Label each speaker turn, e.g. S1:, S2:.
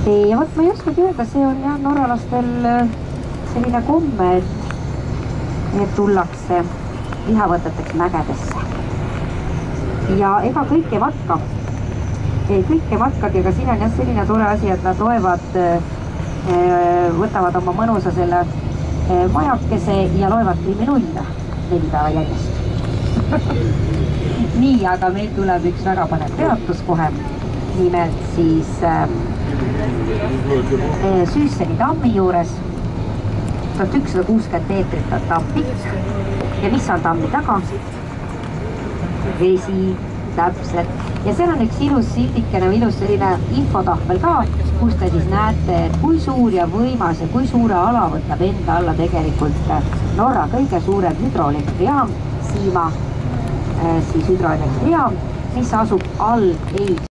S1: ja vot ma ei oskagi öelda, see on jah norralastel selline komme, et tullakse lihavõteteks mägedesse. Ja ega kõik ei matka. Kõik ei matkagi, aga siin on jah selline tore asi, et nad loevad, võtavad oma mõnusa selle majakese ja loevad kriminulle 4 päeva järjest. Nii, aga meil tuleb üks väga panev peatus kohe. Nimelt siis Süüsseni tammi juures 1160 meetrit on tamm pikk ja mis on tammi taga? Vesi, täpselt. Ja seal on üks ilus sildikene või ilus selline infotahvel ka, kus te siis näete, kui suur ja võimas ja kui suure ala võtab enda alla tegelikult Norra kõige suurem hüdroelektrijaam, Siima siis hüdroelektrijaam, mis asub all